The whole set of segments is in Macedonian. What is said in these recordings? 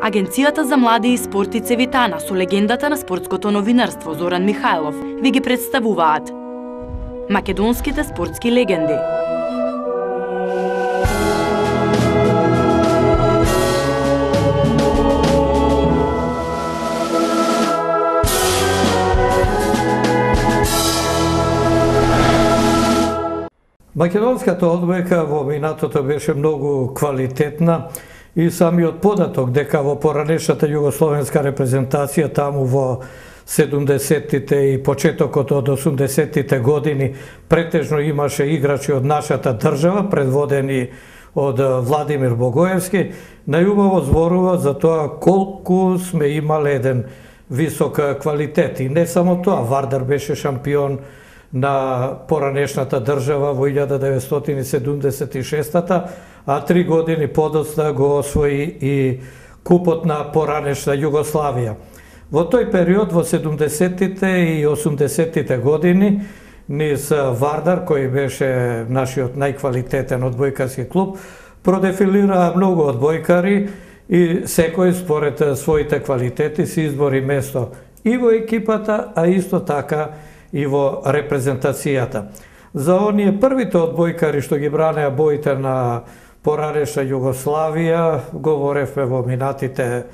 Агенцијата за млади и спорт и Цевитана со легендата на спортското новинарство Зоран Михајлов ви ги представуваат македонските спортски легенди. Македонската одбојка во минатото беше многу квалитетна и самиот податок дека во поранешната југословенска репрезентација таму во 70-тите и почетокот од 80-тите години претежно имаше играчи од нашата држава, предводени од Владимир Богоевски, најубаво зборува за тоа колку сме имале еден висок квалитет. И не само тоа, Вардар беше шампион на поранешната држава во 1976-та, а 3 години подоцна го освои и купот на поранешна Југославија. Во тој период, во 70-тите и 80-тите години, низ Вардар, кој беше нашиот најквалитетен одбојкарски клуб, продефилира многу одбојкари и секој според своите квалитети се избори место и во екипата, а исто така и во репрезентацијата. За оние првите одбојкари што ги бранеа боите на поранешна Југославија, говоревме во минатите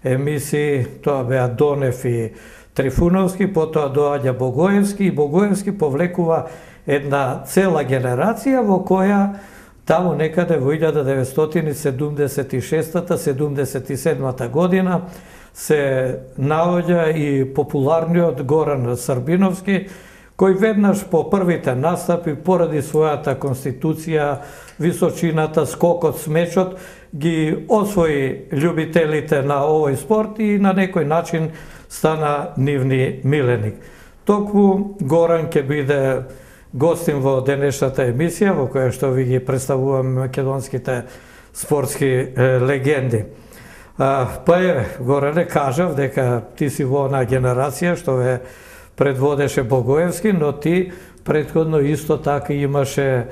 емисии, тоа беа Донев и Трифуновски, потоа доаѓа Богоевски и Богоевски повлекува една цела генерација во која таму некаде во 1976-77 година се наоѓа и популарниот Горан Србиновски, кој веднаш по првите настапи, поради својата конституција, височината, скокот, смечот, ги освои љубителите на овој спорт и на некој начин стана нивни миленик. Токму Горан ќе биде гостин во денешната емисија, во која што ви ги представуваме македонските спортски легенди. Па еве, Горане, кажав дека ти си во онаа генерација што ве предводеше Богоевски, но ти претходно исто така имаше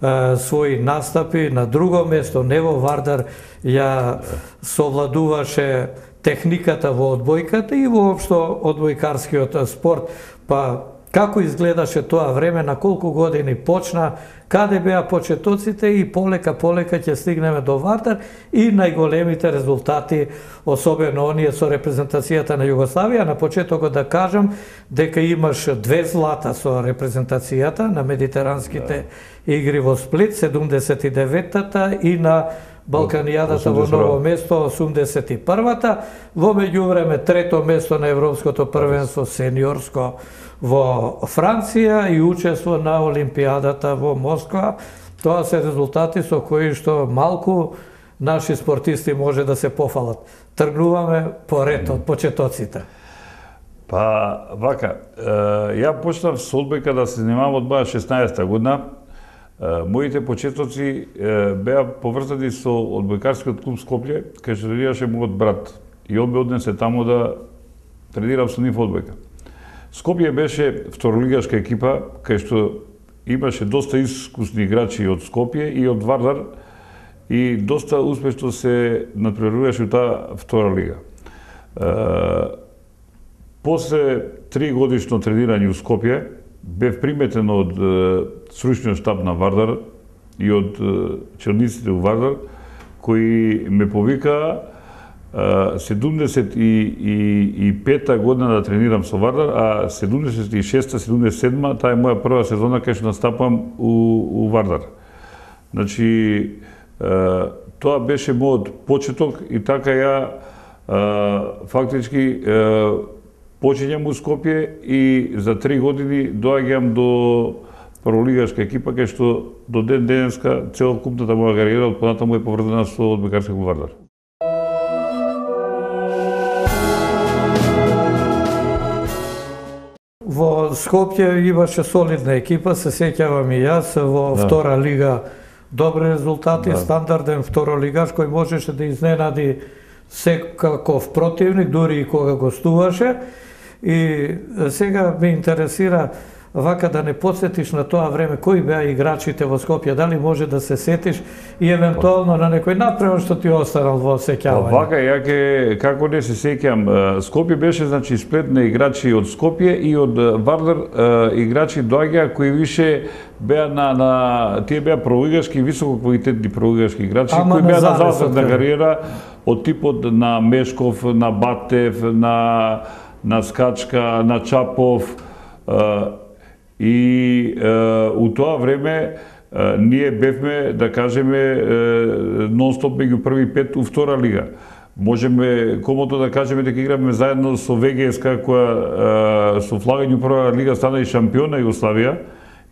своји настапи на друго место, не во Вардар, ја совладуваше техниката во одбојката и воопшто одбојкарскиот спорт. Па како изгледаше тоа време, на колку години почна, каде беа почетоците и полека ќе стигнеме до Вардар и најголемите резултати, особено оние со репрезентацијата на Југославија. На почетокот да кажам дека имаш 2 злата со репрезентацијата на медитеранските игри во Сплит 79-та и на Балканијадата во Ново место 81-та. Во меѓувреме трето место на Европското првенство сениорско во Франција и учество на Олимпијадата во Москва. Тоа се резултати со кои што малку наши спортисти може да се пофалат. Тргнуваме поред од почетоците. Па, вака, ја почнав со одбојка да се занимавам од моја 16-та година. Моите почетоци беа поврзани со одбојкарскиот клуб Скопје, кај што тренираше мојот брат. И он ме однесе таму да тренирам со нив одбојка. Скопје беше второлигашка екипа, кај што имаше доста искусни играчи од Скопје и од Вардар и доста успешно се надпреваруваше таа втора лига. После 3 годишно тренирање у Скопје, бев приметен од стручниот штаб на Вардар и од челниците у Вардар, кои ме повикаа 75-та година да тренирам со Вардар, а 76-та-77-та, таа е моја прва сезона кај што настапам у Вардар. Значи, тоа беше мојот почеток и така ја фактички почињам у Скопје и за 3 години доаѓам до прволигашка екипа, кај што до ден денеска целокупната моја кариера од понатаму е поврзана со одбојкарски клуб Вардар. Во Скопје имаше солидна екипа, се сеќавам и јас, во втора лига добри резултати, стандарден второлигаш кој можеше да изненади секаков противник, дури и кога гостуваше. И сега ме интересира вака да не подсетиш на тоа време кои беа играчите во Скопје, дали може да се сетиш и евентуално на некој направен што ти останал во сеќавање? Вака, ја како не се сеќам, Скопје беше значи сплет на играчи од Скопје и од Вардар, играчи доаѓаа кои више беа тие беа пролигашки, високо квалитетни пролигашки играчи кои беа на завршна кариера од типот на Мешков, на Батев, на Скачка, на Чапов, и у тоа време ние бевме, да кажеме, нон-стоп меѓу први пет у втора лига. Можеме комото да кажеме дека играме заедно со ВГСК, која со влагање у прва лига стана и шампион на Југославија,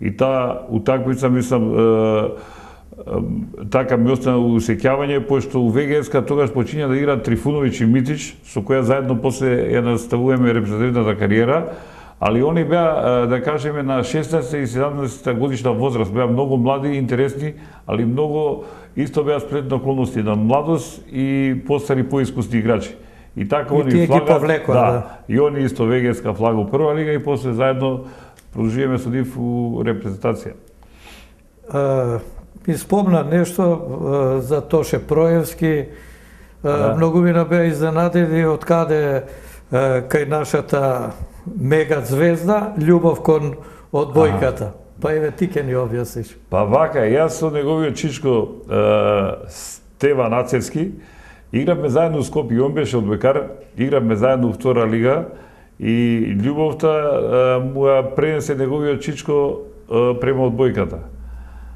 и таа утакмица, мислам, така ми остана усеќавање, пошто у ВГСК тогаш почиња да играат Трифуновиќ и Митич, со која заедно после ја наставуваме репрезентативната кариера, али они беа, да кажеме, на 16 и 17 годишна возраст, беа многу млади и интересни, али многу исто беа сплет на околности на младост и постари поискусни играчи. И така они флагат, да, и они исто ВГСК флага у прва лига и после заедно продолжуваме со нив у репрезентација. Ми спомна нешто за Тоше Проевски, многу ми беа изненадени од каде кај нашата мега звезда, љубов кон одбојката. Па еве ти ке ни објасниш. Па вака, јас со неговиот чичко Стеван Ацевски игравме заедно со Скопје, он беше одбојкар, игравме заедно у втора лига и љубовта му ја пренесе неговиот чичко према одбојката.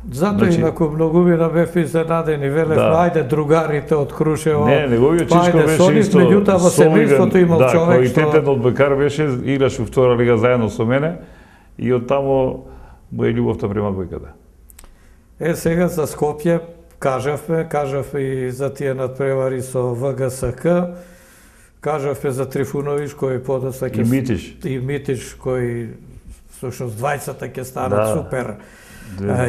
Затоа инаку многу ми бев изненадени, велев, ајде другарите од Крушево. Не, неговиот чичко беше исто меѓутоа во семејството имал човек што квалитетен одбојкар беше, играше у втора лига заедно со мене и од таму му е љубовта према одбојката. Сега за Скопје кажавме и за тие надпревари со ВГСК, кажавме за Трифуновиќ кој подоцна ќе и Митиш кој всушност двајцата ќе станат супер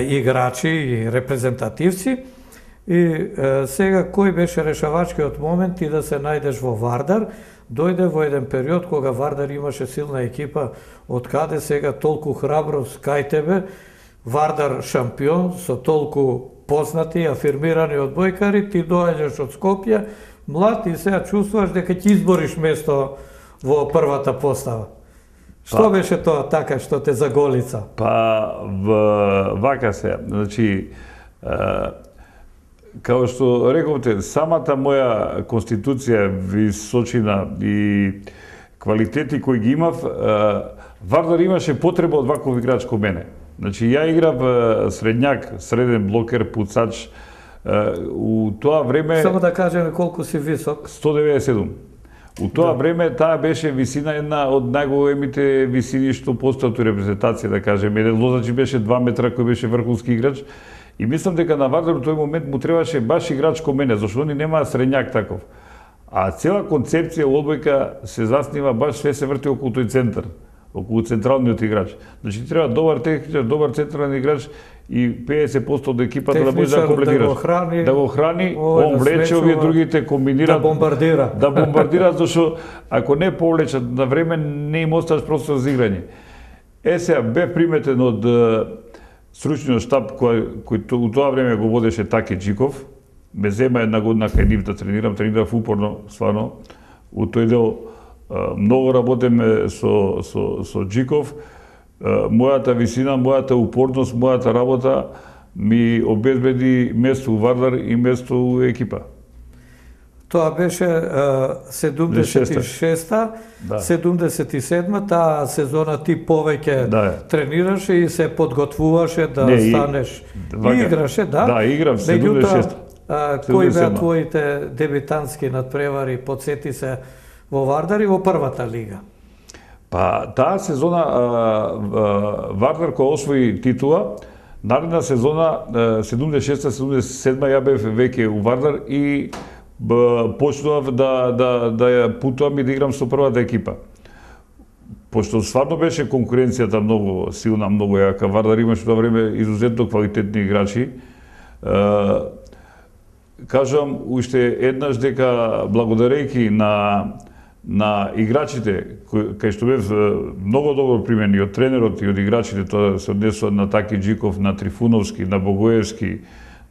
играчи и репрезентативци. И сега кој беше решавачкиот момент и да се најдеш во Вардар? Дојде во еден период кога Вардар имаше силна екипа, од каде сега толку храброст кај тебе, Вардар шампион со толку познати, афирмирани одбојкари, ти доаѓаш од Скопје, млад и сега чувствуваш дека ќе избориш место во првата постава. Што беше тоа така што те заголица? Па вака се, значи као што рековте, самата моја конституција, височина и квалитети кои ги имав, Вардар имаше потреба од ваков играч ко мене. Значи, ја играв средњак, среден блокер, пуцач, у тоа време... Само да кажеме колку си висок. 197. У тоа време таа беше висина една од најголемите висини што постојат у репрезентација, да кажеме. Еден Лозачи беше 2 метра кој беше врховски играч. И мислам дека на Вардар у тој момент му требаше баш играч ко мене, зашто они немаа средњак таков. А цела концепција у одбојка се заснива баш све се врти околу тој центар, околу централниот играч. Значи треба добар техничар, добар централен играч и 50% од екипата да може да комплетираш. Да го храни, он влече, овие другите комбинираат. Да бомбардира. Да бомбардираат, зашто ако не повлечат на време, не им оставаш простор за играње. Сега бе приметен од стручниот штаб кој у тоа време го водеше Таке Джиков. Ме зема една година кај нив да тренирав упорно, стварно. У тој дел многу работеме со Джиков. Мојата висина, мојата упорност, мојата работа ми обезбеди место у Вардар и место у екипа. Тоа беше 76-та, 77-та, таа сезона ти повеќе тренираше и се подготвуваше да станеш. И играше, да? Да, играв 76-та. Кои беа твоите дебитантски надпревари, подсети се, во Вардар и во првата лига? Па, таа сезона Вардар кој освои титула, наредна сезона 76-77 ја бев веќе у Вардар и почнував да ја путувам и да играм со првата екипа. Пошто стварно беше конкуренцијата многу силна, многу јака. Вардар имаше тоа време изузетно квалитетни играчи. Кажам уште еднаш дека благодарејќи на играчите, кај што бев многу добро примени од тренерот и од играчите, тоа се однесува на Таки Джиков, на Трифуновски, на Богоевски,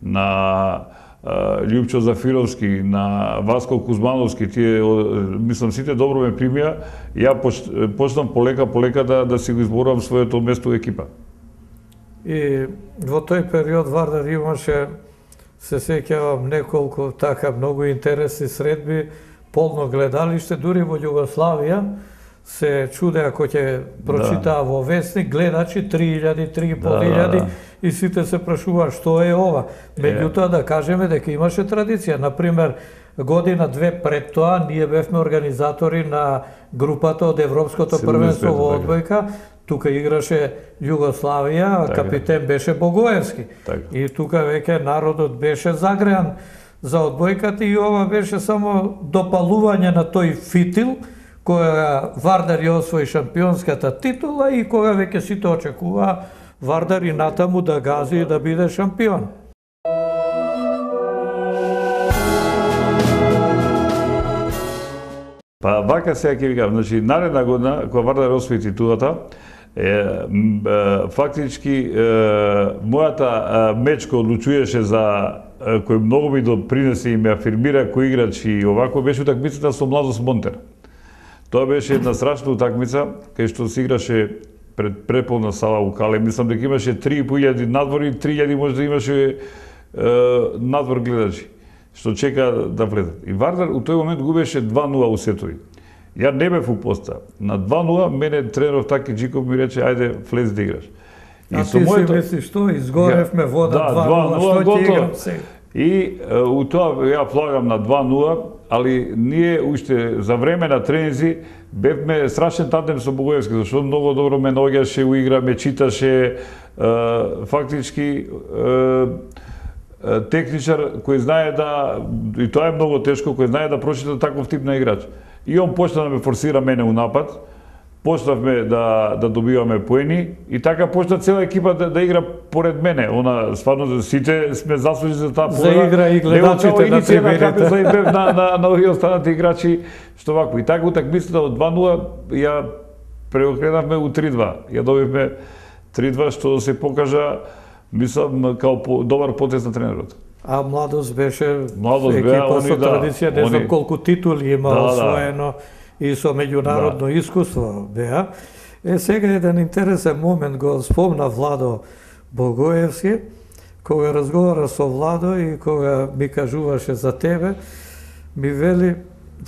на Љупчо Зафировски, на Васко Кузмановски, тие, мислам, сите добро ме примија, ја почнам полека да си го изборувам своето место во екипа. И во тој период Вардар имаше, се сеќавам, неколку така многу интересни средби, полно гледалиште, дури во Југославија се чудеа кој ќе прочитаа во вестник, гледачи 3000, 3500 и сите се прашуваа што е ова. Меѓутоа да кажеме дека имаше традиција. Например, година-две пред тоа ние бевме организатори на групата од Европското првенство во одбојка. Тука играше Југославија, капитен беше Богоевски. И тука веќе народот беше загреан за одбојката и ова беше само допалување на тој фитил кога Вардар ја освои шампионската титула и кога веќе сите очекуваа Вардар и натаму да гази и да биде шампион. Па вака сега ќе ви кажам, значи наредна година кога Вардар освои титулата, фактички мојата мечка одлучуваше за кој многу ми допринесе и ме афирмира кој играч и овако беше утакмицата со Младост Монтер. Тоа беше една страшна утакмица кај што се играше пред преполна сала у Кале. Мислам дека имаше 3500 надвори, 3000 може да имаше надвор гледачи што чека да влезат. И Вардар у тој момент губеше 2-0 у сетови. Ја не бев у поста. На 2-0 мене тренерот Таки Джиков ми рече ајде влез да играш. И ти си мислиш што изгоревме вода 2-0, што ќе играм сега? И у тоа ја влагам на 2-0, али ние уште за време на тренинзи бевме страшен тандем со Богоевски, зашто многу добро ме наоѓаше у игра, ме читаше, фактички техничар кој знае да, и тоа е многу тешко, кој знае да прочита таков тип на играч. И он почна да ме форсира мене у напад, почнавме да добиваме поени и така почна цела екипа да игра поред мене. Она стварно сите сме заслужени за таа победа. За игра и гледачите на трибините. За игра на овие останати играчи што вако. И така утакмицата од 2-0 ја преокренавме у 3-2. Ја добивме 3-2 што се покажа, мислам, као добар потез на тренерот. А Младост беше екипа со традиција, не знам колку титули има освоено и со меѓународно искуство беа. Сега еден интересен момент го спомна Владо Богоевски, кога разговара со Владо и кога ми кажуваше за тебе, ми вели,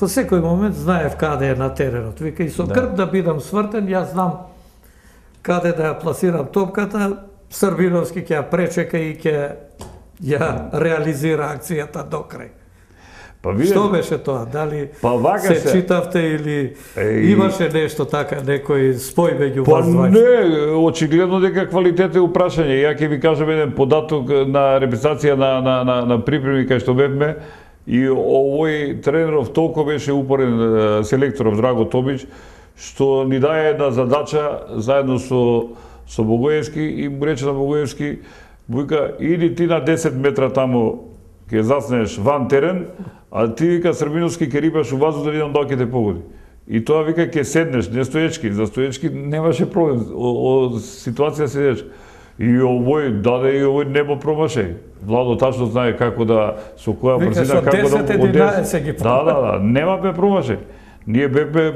во секој момент знаев каде е на теренот. Вика, и со грб да бидам свртен, јас знам каде да ја пласирам топката, Србиновски ќе ја пречека и ќе ја реализира акцијата до крај. Што беше тоа? Дали се читавте или имаше нешто така, некој спој меѓу вас двајца? Не, очигледно дека квалитет е упрашање. Ја ќе ви кажам еден податок на репетиција на припреми кај што бевме и овој тренеров толку беше упорен селекторов Драго Тобич, што ни даде една задача заедно со Богоевски и му рече на Богоевски, вика, иди ти на 10 метра таму, ќе заснеш ван терен, а ти, вика, Србиновски ќе рибаш у вазу да видам дали ќе те погоди. И тоа, вика, ќе седнеш, не стоечки, за стоечки немаше проблем, ситуација седеш. И овој даде и овој небо промаше. Владо тачно знае како да, со која брзина, како да од 10-11 ги промаше. Да, нема ме промаше. Ние бевме,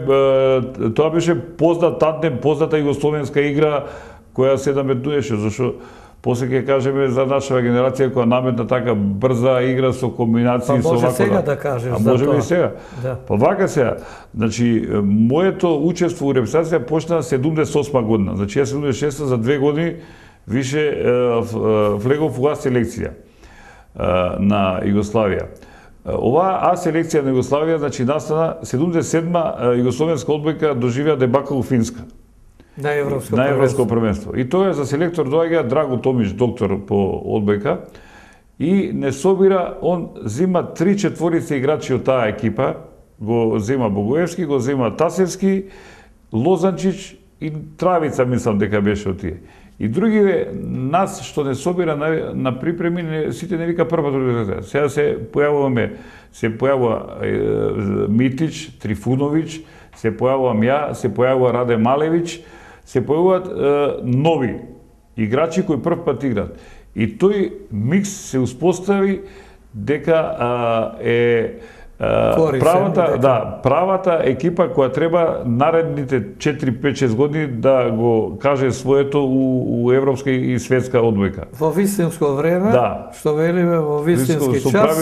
тоа беше познат тандем, позната југословенска игра, која се наметнуеше, зашто после ќе кажеме за нашава генерација која наметна така брза игра со комбинации со вако. Може сега да кажеш за тоа. Може и сега. Па вака сега, значи моето учество у репрезентација почна 78 година. Значи ја 76 за 2 години више влегов у А селекција на Југославија. Оваа А селекција на Југославија, значи настана 77 југословенска одбојка доживеа дебакл у Финска. На Европско првенство. И тоа за селектор доаѓа Драго Томич, доктор по одбојка, и не собира, он зима 3/4 играчи од таа екипа, го зема Богоевски, го зема Тасевски, Лозанчич и Травица, мислам дека беше од тие. И другиве нас што не собира на припреми, сите не вика прва организација. Сега се појавува Митич, Трифуновиќ, се појавувам ја, се појавува Раде Малевиќ, се појавуваат нови играчи кои прв пат играат. И тој микс се успостави дека правата екипа која треба наредните 4-5-6 години да го каже своето у европска и светска одбојка. Во вистинско време, што велиме во вистински час,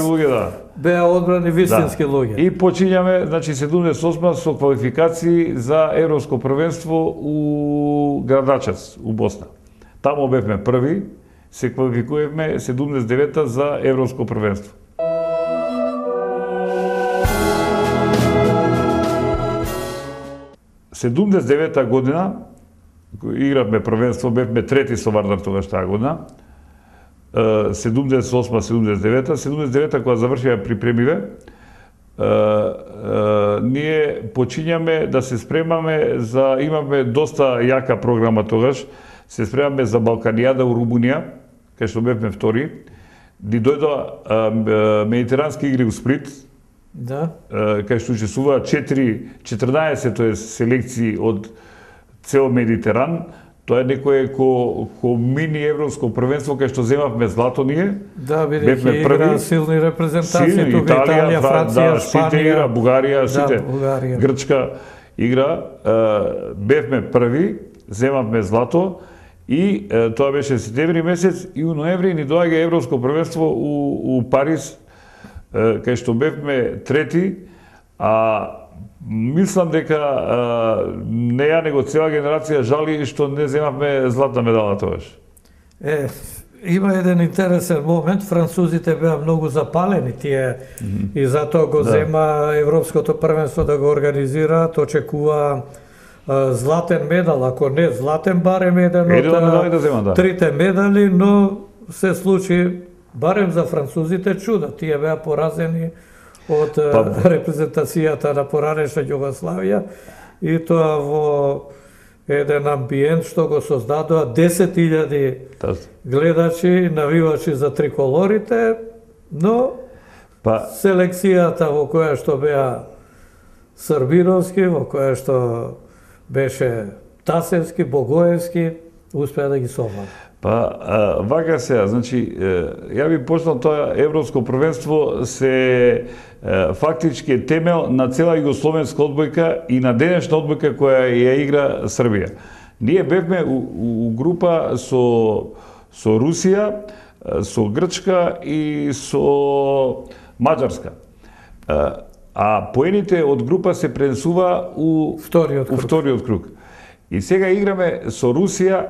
беа одбрани вистински луѓе. И почињаме, значи 78 со квалификации за европско првенство у Градачац, у Босна. Тамо бевме први, се квалификувавме 79-та за европско првенство. Во 79-та година игравме првенство, бевме трети со Вардар тогаш таа година. 78-79-та, 79-та кога завршија припремиве, ние почињаме да се спремаме за, имаме доста јака програма тогаш, се спремаме за Балканијада у Румунија, кај што бевме втори. Ни дојдоа медитерански игри у Сплит, кај што учествуваа 14 селекции од цел Медитеран. Тоа е некое ко мини европско првенство кај што земавме злато ние. Да, бидејќи игра силни репрезентации, тука Италија, Франција, Шпанија, Бугарија, сите, Грчка игра. Бевме први, земавме злато и тоа беше септември месец и у ноември ни доаѓа европско првенство у Париз, кај што бевме трети, мислам дека не ја него цела генерација жали што не земавме златна медала тогаш. Има еден интересен момент, французите беа многу запалени тие и затоа го зема европското првенство да го организираат, очекува златен медал, ако не златен, барем еден од трите медали, но се случи барем за французите чуда. Тие беа поразени од репрезентацијата на поранешна Југославија и тоа во еден амбиент што го создадоа 10.000 гледачи, навивачи за триколорите, но селекцијата во која што беа Србиновски, во која што беше Тасевски, Богоевски, успеа да ги совладат. Вака сега, значи, ја би почнал тоа европско првенство се фактички е темел на цела југословенска одбојка и на денешна одбојка која ја игра Србија. Ние бевме у група со Русија, со Грчка и со Маđарска. А поените од група се пренесува у вториот круг. И сега играме со Русија,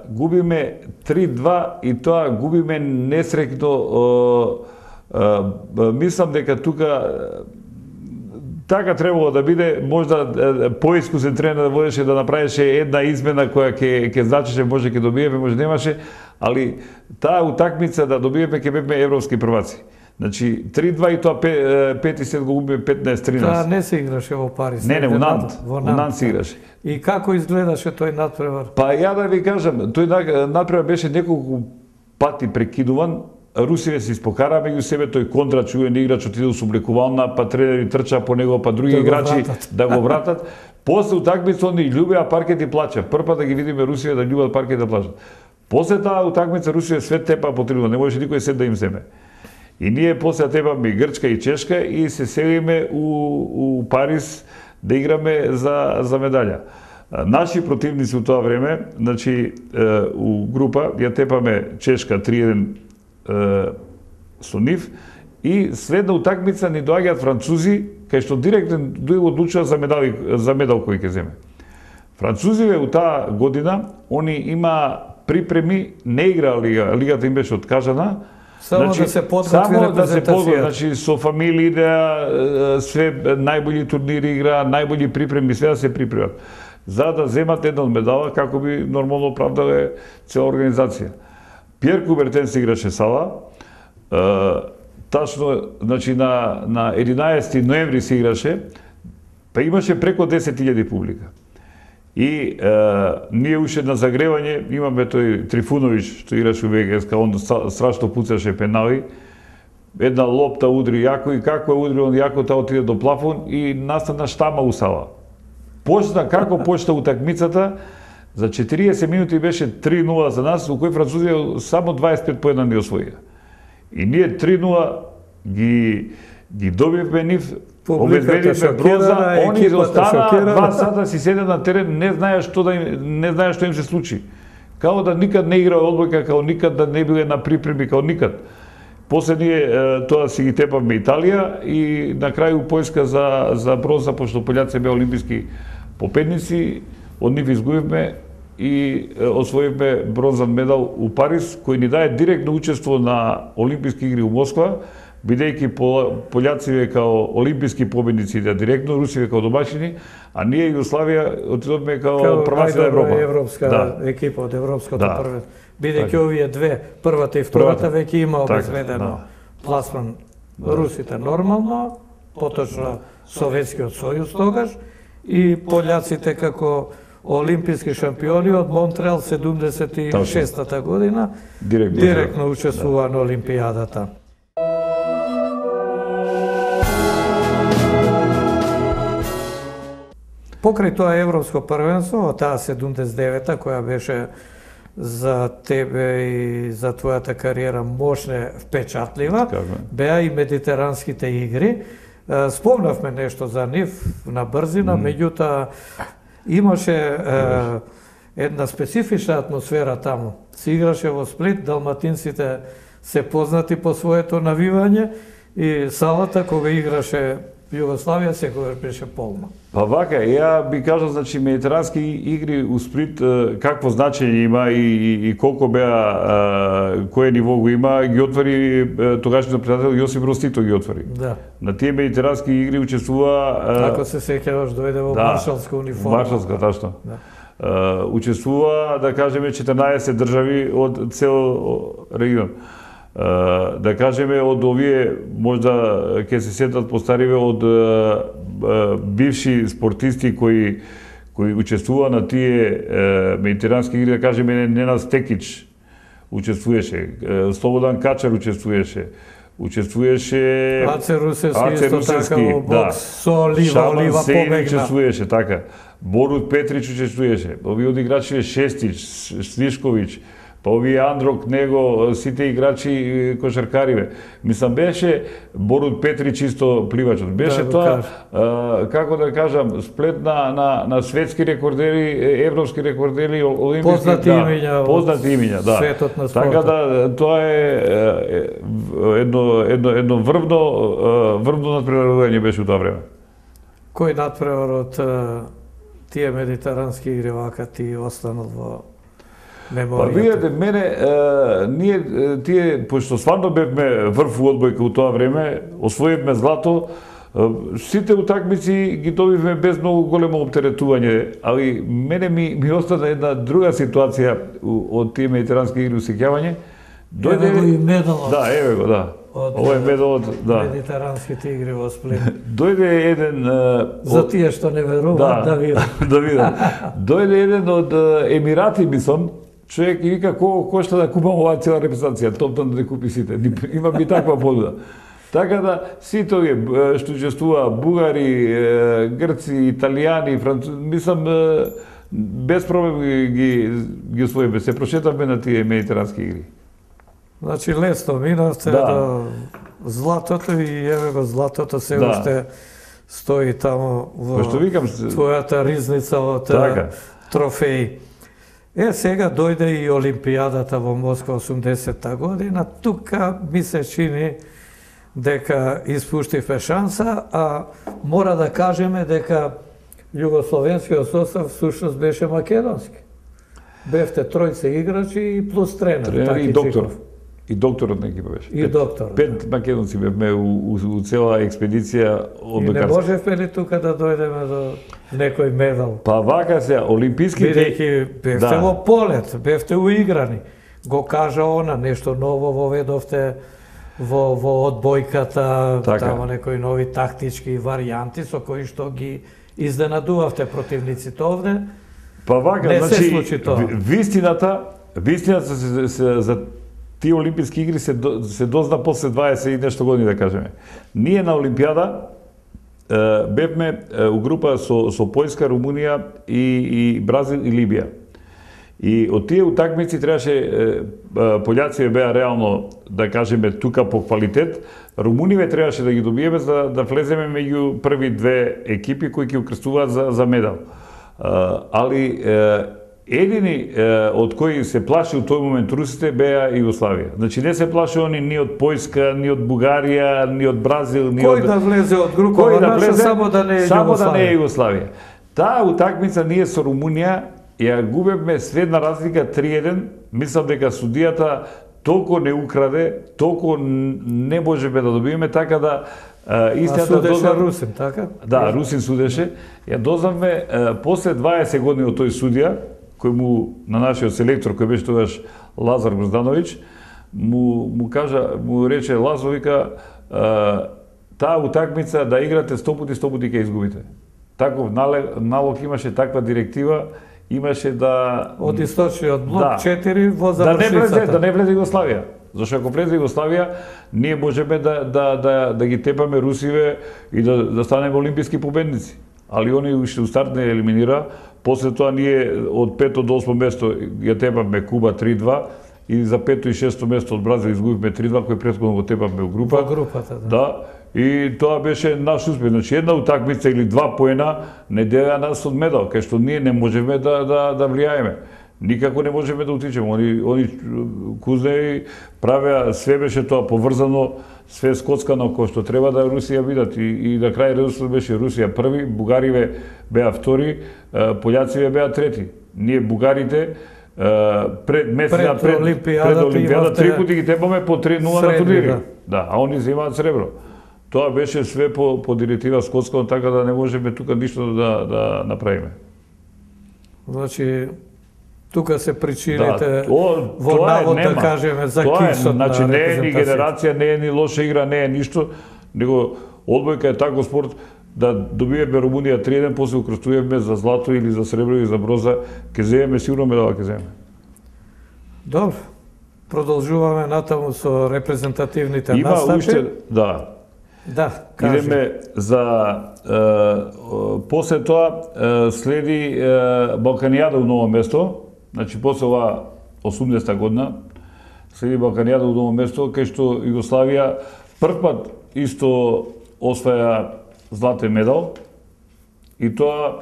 губиме 3-2 и тоа губиме несреќно. Мислам дека тука така требало да биде, можда поискусен тренер да водеше да направеше една измена која ќе значеше, може ќе добиеме, може немаше, али таа утакмица да добиеме ќе бевме европски прваци. Значи 3-2 и тоа 5 и 7 го губиме 15-13. Таа не се играше во Париз. Не, у Нант. Во Нант се играше. И како изгледаше тој надпревар? Па ја да ви кажам, тој надпревар беше неколку пати прекидуван. Русиве се испокара меѓу себе, тој Кондрат, чуен играч, отиде со облекувална, па тренери трча по него, па други играчи да го вратат. После утакмица они љубеа паркет и плача. Прв да ги видиме Русиве да љубат паркет да плачат. После таа утакмица Русиве свет тепа по трибуна, не можеше никој сет да им земе. И ние после тепаме и Грчка и Чешка и се селиме у Париз да играме за медаља. Наши противници у тоа време, значи у група ја тепаме Чешка 3-1 со нив и следна утакмица ни доаѓаат французи, кај што директно одлучува за медал кој ќе земе. Французиве у таа година, они има припреми, не игра лигата им беше откажана. Само да се подготви репрезентацијата. Значи со фамилии све најбољи турнири игра, најбољи припреми, све да се припремат. За да земат една од медала, како би нормално оправдале цела организација. Пиер Кубертен се играше сала. Тачно, значи на 11 ноември се играше, па имаше преку 10.000 публика. И ние уште на загревање имаме тој Трифуновиќ што играше у ВГСК, он страшно пуцаше пенали. Една лопта удри јако и како удри он јако, таа отиде до плафон и настана штама у сала. Како почна утакмицата, за 40 минути беше 3-0 за нас, у кој Французија само 25 поена не освоија. И ние 3-0 ги добивме нив, обезбедивме бронза, они остана 2 сата си седе на терен, не знаеш што им се случи. Као да никад не игра одбојка, као никад да не биле на припреми, као никад. После ние тоа си ги тепавме Италија и на крају Појска за бронза, пошто пољаци беа олимписки победници, од нив изгубивме и освоивме бронзан медал у Париз, кој ни даде директно учество на Олимписки игри у Москва, бидејќи пољаци као олимписки победници директно, Руси као домашини, а ние Југославија отидовме као прваци на Европа. Европска екипа од европското првенство. Бидејќи овие две, првата и втората, веќе има обезбедено пласман. Русите нормално, поточно Советскиот сојуз тогаш, и пољаците како олимписки шампиони од Монтреал 76-та година директно учествува на Олимпијадата. Покрај тоа европско првенство, таа 79-та, која беше за тебе и за твојата кариера мощна, впечатлива, беа и медитеранските игри. Спомнавме нешто за нив на брзина, меѓутоа имаше една специфична атмосфера таму. Се играше во Сплит, далматинците се познати по своето навивање и салата кога играше Југославија секогаш беше полна. Па вака, ја би кажал, значи, медитерански игри у Сплит какво значење има и колку беа, кое ниво го има, ги отвори тогашниот председател Јосип Брос Тито ги отвори. Да. На тие медитерански игри учествува... Ако се сеќаваш, дојде во маршалска униформа. Маршалска, тачно. Учествува, да кажеме, 14 држави од цел регион. Да кажеме, од овие, можда ќе се сетат постариве, од бивши спортисти кои учествува на тие медитерански игри, да кажеме, Ненад Стекич учествуваше, Слободан Качар учествуваше, Аце Русевски исто така во бокс со Олива побегна. Учествуваше, така. Борут Петрич учествуваше, овие од играчи Шестич, Слишковиќ, па овие Андрок, него, сите играчи кошаркариве. Мислам, беше Борут Петрич исто пливачот. Беше тоа, како да кажам, сплет на светски рекордери, европски рекордери, олимписки... Познати имиња, да. Светот на спортот. Така да, тоа е едно врвно надпреварување беше у тоа време. Кој надпревар од тие медитерански игри вака ти останал во меморијата? Па видите, ние тие, пошто стварно бевме врв у одбојка у тоа време, освоивме злато, сите утакмици ги добивме без многу големо оптеретување, али мене ми остана една друга ситуација од тие медитерански игри усеќавање. Еве го и медалот. Да, еве го, да. Ова е медалот, да. Медитеранските игри во Сплит. Дојде еден... За тие што не веруваат, да видат. Да видат. Дојде еден од Емирати, мислам, човек и вика, колку кошта да купам оваа цела репрезентација, топтан да купи сите. Има би таква понуда. Така да, сите овие што учествува, бугари, грци, италијани, французи, мислам, без проблем ги освоиме. Се прошетавме на тие медитерански игри. Значи, лесно минавте до златото и еве го златото се уште стои таму во твојата ризница од трофеи. Сега дојде и Олимпијадата во Москва 80-та година. Тука ми се чини дека испуштивме шанса, а мора да кажеме дека југословенскиот состав сушност беше македонски. Бевте тројца играчи и плюс тренер. И доктор. И докторот на екипа беше. И докторот. 5 македонци бевме у цела експедиција од И не можевме ли тука да дојдеме до некој медал? Па вака се, олимписките... Бидејќи бевте во полет, бевте уиграни. Го кажа она, нешто ново воведовте во одбојката, тамо некои нови тактички варијанти со кои што ги изненадувавте противниците овде. Па вака, не се значи, случи тоа. вистината за тие олимписки игри се дозна после 20 и нешто години, да кажеме. Ние на Олимпијада бевме у група со Поljska, Румунија и Бразил и Либија. И од тие утакмици требаше пољаците беа реално, да кажеме, тука по квалитет, Румуниве требаше да ги добиеме за да влеземе меѓу први две екипи кои ќе учествуваат за медал. Али едини од кои се плаши у тој момент русите беа Југославија. Значи не се плаши они ни од Поljska, ни од Бугарија, ни од Бразил, ни од... Кој да влезе од групава наша, само да не е Југославија. Само да не е Југославија. Таа утакмица ние со Румунија ја губевме средна разлика 3-1. Мислам дека судијата толку не украде, толку не можеме да добиеме, така да истината судеше Русин, така? Да, Русин судеше. Ја дознавме после 20 години од тој судија, кој му на нашиот селектор кој беше тогаш Лазар Гроздановиќ, му рече Лазо, вика, таа утакмица да играте 100 пати ќе изгубите. Таков налог имаше, таква директива имаше да од источниот блок 4 во завршницата. Да не влезе Југославија. Зашто ако влезе Југославија, ние можеме да ги тепаме русиве и да станеме олимписки победници. Али они уште у старт не елиминира. После тоа ние од 5 до 8 место ја тепаме Куба 3-2 и за 5 и 6 место од Бразил изгубивме 3-2, кој претходно го тепаме у група. Во групата, да. Да. И тоа беше наш успех. Значи една утакмица или 2 поена не дела нас од медал, кај што ние не можеме да влијаеме. Никако не можеме да утичеме. Они кузнеи правеа, све беше тоа поврзано, све скоцкано кој што треба да Русија бидат. И на крај редослед беше Русија први, бугариве беа втори, пољациве беа трети. Ние бугарите пред Олимпијада 3 пати ги тепаме по 3-0 на турнири. Да, а они земаат сребро. Тоа беше све по директива скотска, така да не можеме тука ништо да направиме. Значи, тука се причините во навод, да кажеме, за кисот на репрезентацијата. Не е ни генерација, не е ни лоша игра, не е ништо, него одбојка е тако спорт да добиеме Румунија 3-1, после укрстуваме за злато или за сребро или за броза, ќе земеме сигурно медала, ќе земеме. Добро. Продолжуваме натаму со репрезентативните настапи. Има уште, да. Да, кажи. Идеме за после тоа следи Балканијада у Ново место. Значи после ова 80-та година следи Балканијада у Ново место, кај што Југославија прв пат исто осваја златен медал. И тоа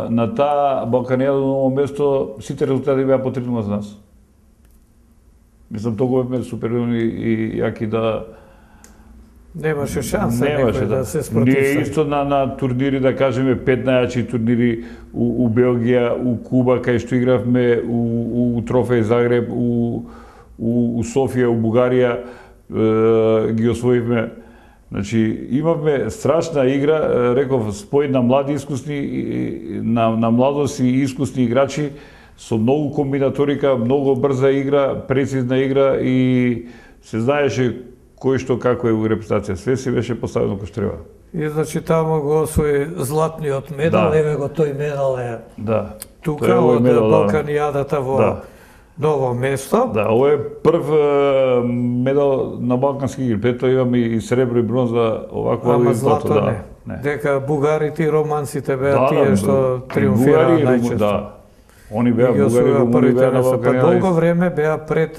на таа Балканијада у Ново место сите резултати беа по 3-0 за нас. Мислам, толку беме супериорни и јаки да немаше шанса некој да се спротивстави. Ние исто на турнири, да кажеме, 5 најачи турнири у Белгија, у Куба, кај што игравме, у Трофеј Загреб, у Софија, у Бугарија, ги освоивме. Значи, имавме страшна игра, реков, спој на млади искусни, на младост и искусни играчи, со многу комбинаторика, многу брза игра, прецизна игра и се знаеше кој што како е у репрезентација. Све си беше поставено кој што треба. И значи таму го освои златниот медал, Да. еве го тој медал е Да. тука од Балканијадата во Ново место. Да, ово е прв медал на Балкански игри. Пред тоа имаме и сребро и бронза, овакво Ама и злато не. Дека бугарите и романците беа тие што триумфираа најчесто. Да. Они беа бугари и румуни беа на Балканијада. Па долго време беа пред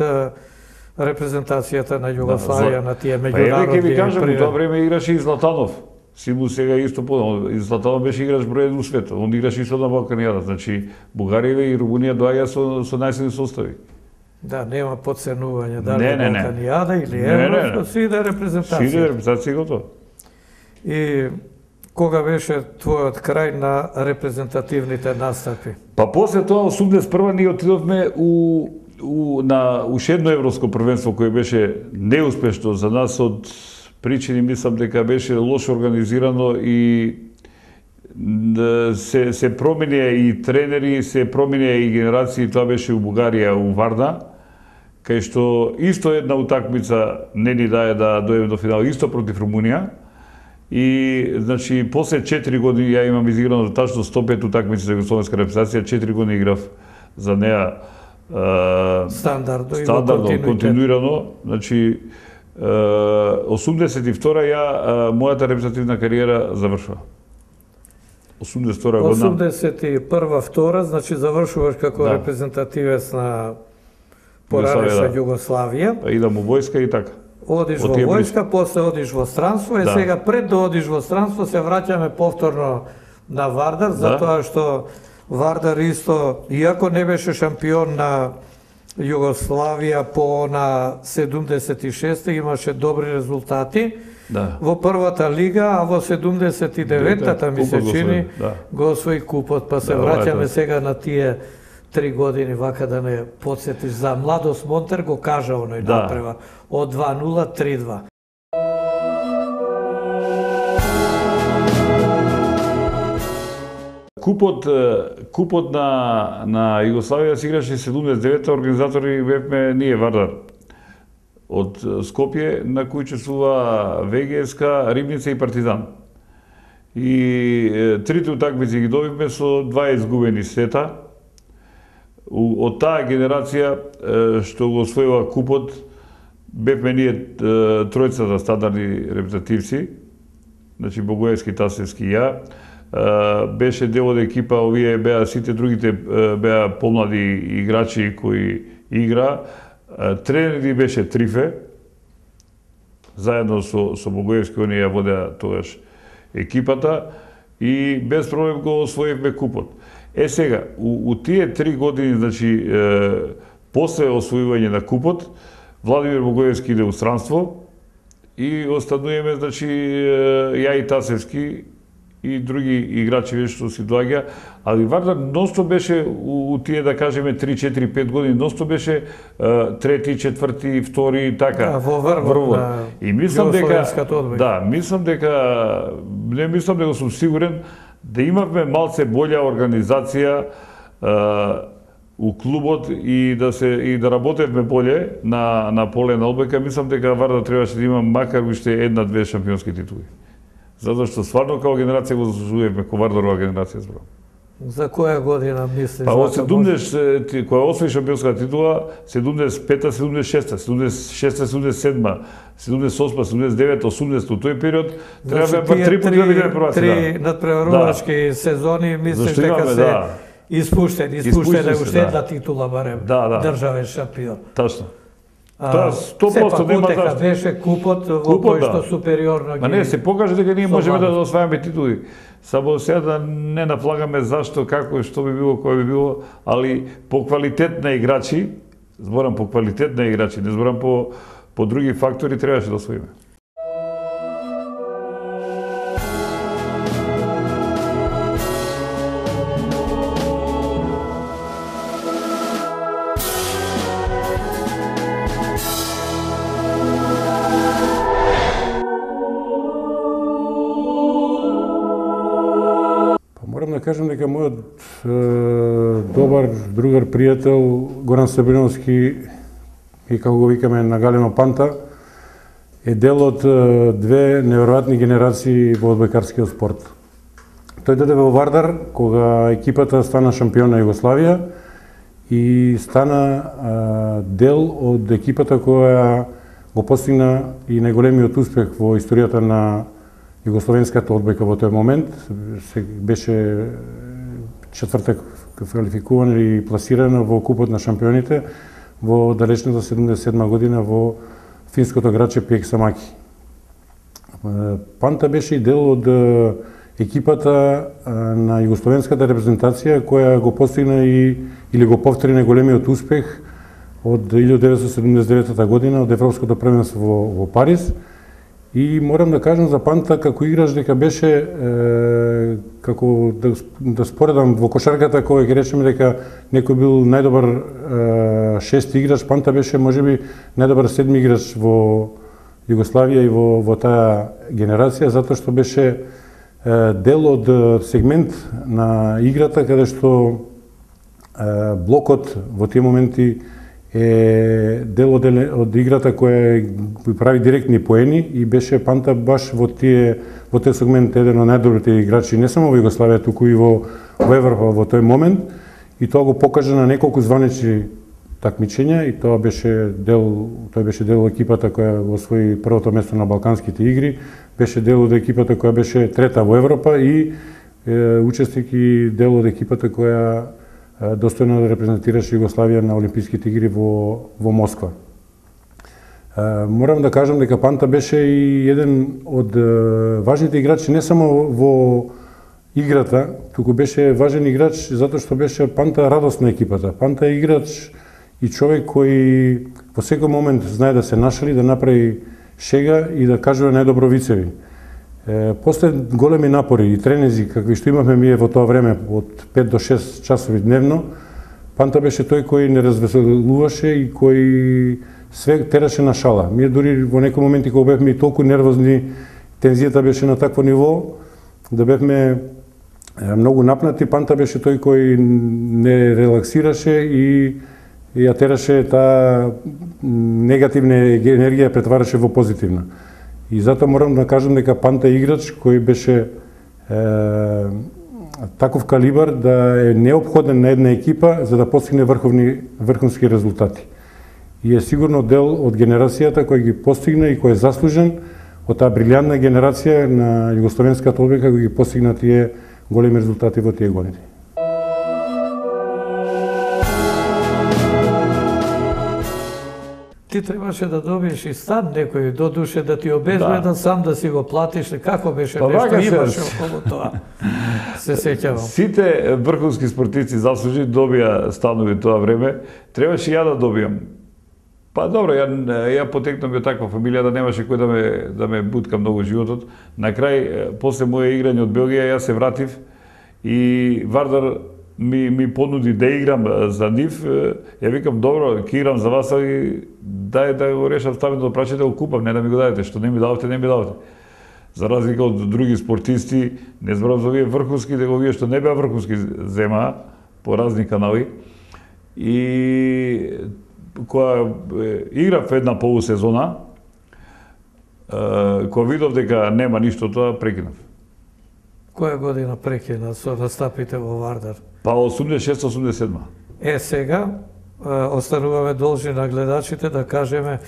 репрезентацијата на Југославија на тие меѓународни. Па еве ќе ви кажам, у тоа време играше и Златанов. Симу сега исто подобно. И Златанов беше играч број 1 у светот. Он играше исто на Балканијада. Значи, Бугарија и Румунија доаѓа со најсилни состави. Да, нема подценување дали Не. Балканијада или Евро, си иде репрезентација. Си иде репрезентација готово. И кога беше твојот крај на репрезентативните настапи? Па после тоа 81 ние отидовме у уште едно европско првенство кој беше неуспешно за нас од причини, мислам дека беше лошо организирано и се променија и тренери, се променија и генерации. Тоа беше у Бугарија, у Варна, кај што исто една утакмица не ни даде да дојдеме до финал, исто против Румунија. И, значи, после 4 години ја имам изиграно тачно 105 утакмици за југословенска репрезентација, 4 години играв за неа стандардно, континуирано. Значи, 82-а ја мојата репрезентативна кариера завршува. 82-а година. 81-2, значи завршуваш како репрезентативец на поранешна Југославија. Идам у војска и така. Одиш во војска, после одиш во странство, и сега пред да одиш во странство се враќаме повторно на Вардар, затоа што Вардар исто, иако не беше шампион на Југославија по на 76 имаше добри резултати во првата лига, а во 79-та ми се чини го освои купот, па се враќаме сега на тие 3 години, вака да не подсетиш за Младост Монтер, го кажа оној напрева, од 2-0, 3-2. Купот на Југославија се играше 79-та, организатори бевме ние Вардар. Од Скопје, на кој учествува ВГСК, Рибница и Партизан. И трите утакмици ги добивме со 2 изгубени сета. Од таа генерација што го освоила купот, бевме ние тројцата стандардни репрезентативци, значи Богоевски, Тасевски и ја. Беше дел од екипа, овие беа сите другите беа помлади играчи кои игра. Тренери беше Трифе, заедно со Богоевски, они ја водеа тогаш екипата и без проблем го освоивме купот. Сега, у тие 3 години, значи, после освојување на купот, Владимир Богоевски иде у странство и остануваме, значи, ја и Тасевски и други играчи веќе што си доаѓа, али Вардар носто беше у тие, да кажеме, 3-4-5 години, носто беше трети, четврти, втори, така. Во врвот на Југословенската одбојка. Мислам дека сум сигурен да имавме малце болја организација у клубот и да работевме боле на поле на одбојка. Мислам дека Вардар требаше да има макар уште 1-2 шампионски титули. Затоа што стварно као генерација го заслужуваме, ко Вардарова генерација зборам. За која година мислиш? Па од 70, која освои шампионска титула, 75-та, 76-та, 76-та, 77-та, 78-та, 79-та, 80-та, тој период треба да па 3 пати да бидеме прваци. Три надпреварувачки сезони, мислиш дека се испуштени уште една титула барем, државен шампион. Тачно. Тоа 100% нема зашто. Беше купот во кој што супериорно ги... Ма не, се покаже дека ние можеме да освајаме титули. Само сега да не нафлагаме зашто, како, што би било, кој би било, али по квалитет на играчи, зборам по квалитет на играчи, не зборам по други фактори, требаше да освоиме. Кажам дека мојот добар другар пријател Горан Сабриновски, и како го викаме на Галено Панта, е дел од две неверојатни генерации во одбојкарскиот спорт. Тој дојде во Вардар кога екипата стана шампион на Југославија и стана дел од екипата која го постигна и најголемиот успех во историјата на југословенската одбојка во тој момент. Беше четврта квалификувана и пласирана во купот на шампионите во далечната 77 година во финското градче Пиексамаки. Панта беше и дел од екипата на југословенската репрезентација која го постигна или го повтори најголемиот успех од 1979 година од Европското првенство во Париз. И морам да кажам за Панта како играч дека беше како да споредам во кошарката кога ќе речеме дека некој бил најдобар шести играч, Панта беше можеби најдобар седми играч во Југославија и во таа генерација, затоа што беше дел од сегмент на играта каде што блокот во тие моменти е дел од играта која прави директни поени и беше Панта баш во тој сегмент еден од најдобрите играчи не само во Југославија, туку и во Европа во тој момент, и тоа го покажа на неколку званични такмичења, и тој беше дел од екипата која освои првото место на Балканските игри, беше дел од екипата која беше трета во Европа и учесник и дел од екипата која достојно да репрезентираше Југославија на Олимписките игри во Москва. Морам да кажам дека Панта беше и еден од важните играчи не само во играта, туку беше важен играч затоа што беше Панта радост на екипата. Панта е играч и човек кој во секој момент знае да се нашали, да направи шега и да кажува најдобро вицеви. После големи напори и тренинзи какви што имавме ние во тоа време од 5 до 6 часови дневно, Панта беше тој кој не развеселуваше и кој све тераше на шала. Ние дури во некои моменти кога бевме толку нервозни, тензијата беше на такво ниво да бевме многу напнати, Панта беше тој кој не релаксираше и ја тераше таа негативна енергија претвараше во позитивна. И затоа морам да кажам дека Панта е играч кој беше таков калибар да е неопходен на една екипа за да постигне врховски резултати. И е сигурно дел од генерацијата кој ги постигна и кој е заслужен од таа брилјантна генерација на југословенската одборка кој ги постигна тие големи резултати во тие години. Ти требаше да добиеш и стан некој, додуше да ти обезбедат, сам да си го платиш, како беше нешто имаше околу тоа. Се сеќавам. Сите врховски спортисти заслужи добија станови тоа време, требаше ја да добијам. Па добро, ја потекнам од таква фамилија да немаше кој да ме бутка многу животот. На крај, после моје играње од Белгија, јас се вратив и Вардар ми понуди да играм за нив. Ја викам, добро, ќе играм за вас, али дај да го решам ставено да прачете, го купам, не да ми го дадете, што не ми давате, не ми давате. За разлика од други спортисти, не зборам за овие врховски, дека овие што не беа врховски земаа по разни канали. И кога играв една полусезона, кога видов дека нема ништо тоа, прекинав. Која година прекина со настапите во Вардар? Па 86-87. Сега остануваме должни на гледачите да кажеме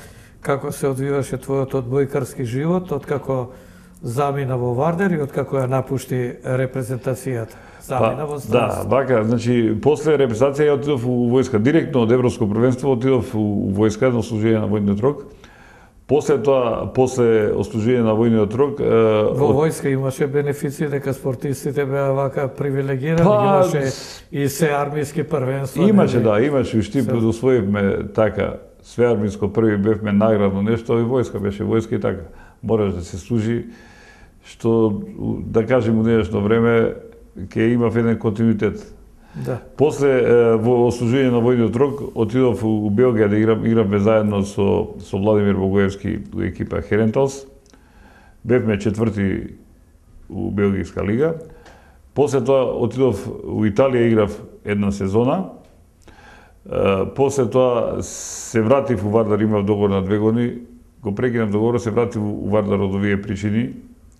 како се одвиваше твојот одбојкарски живот, откако замина во Вардар и откако ја напушти репрезентацијата. Замина во странство. Да, вака, значи, после репрезентација ја отидов у војска, директно од Европско првенство отидов у војска на служење на војниот рок. После тоа, после ослужење на војниот рок... Во војска имаше бенефиции дека спортистите беа вака привилегирани, имаше и се армиски првенства. Имаше, да, имаше, уште предусвоивме така, све армиско први бевме наградно нешто, и војска беше војска и така. Мораш да се служи, што, да кажем, у денешно време, ќе имав еден континуитет. Да. После во ослужење на војниот рок отидов у Белгија да игравме заедно со Владимир Богоевски у екипа Херенталс. Бевме четврти у Белгијска лига. После тоа отидов у Италија, играв една сезона. После тоа се вратив у Вардар, имав договор на 2 години. Го прекинав договорот, се вратив у Вардар од овие причини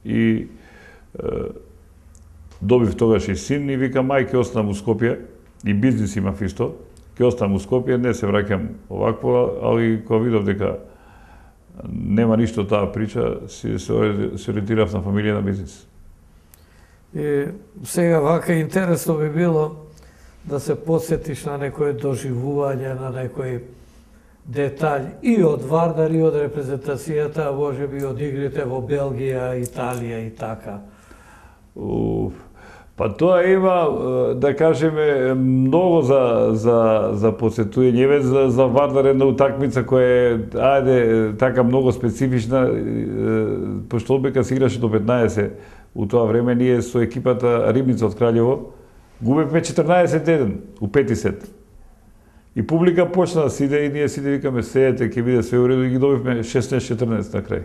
и добив тогаш и син и викам, ај, ќе останам у Скопје, и бизнис имав исто, ќе останам у Скопје, не се враќам овакво, али кога видов дека нема ништо таа прича, се ориентирав на фамилија, на бизнис. И сега вака интересно би било да се подсетиш на некое доживување, на некој детаљ и од Вардар и од репрезентацијата, а може би од игрите во Белгија, Италија и така. Па тоа има, да кажеме, многу за подсетување. За Вардар една утакмица која е, ајде, така многу специфична, пошто одбека се играше до 15 у тоа време, ние со екипата Рибница од Краљево губевме 14-1 у 5 сет. И публика почна да сиде и ние сиде викаме, сеете, ќе биде све уредо, и ги добивме 16-14 на крај.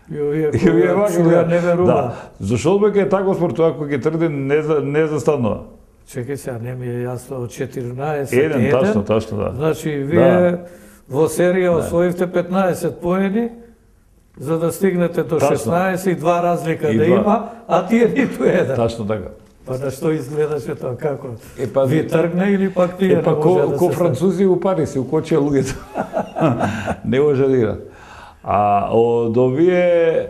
И овие која не верува. Да, зашто одбека е таков спорт, тоа кој ќе тргне не застанува. Чекај сега, не ми е јасно, од 14 Еден, точно, да. Значи, вие во серија освоивте 15 поени, за да стигнете до 16 и 2 разлика да има, а тие ниту еден. Точно така. Па да што изгледаше тоа, како? Па, ви тргна или пак тие не може да ко французи у Париз, у кочија луѓето. Не може да играат. А од овие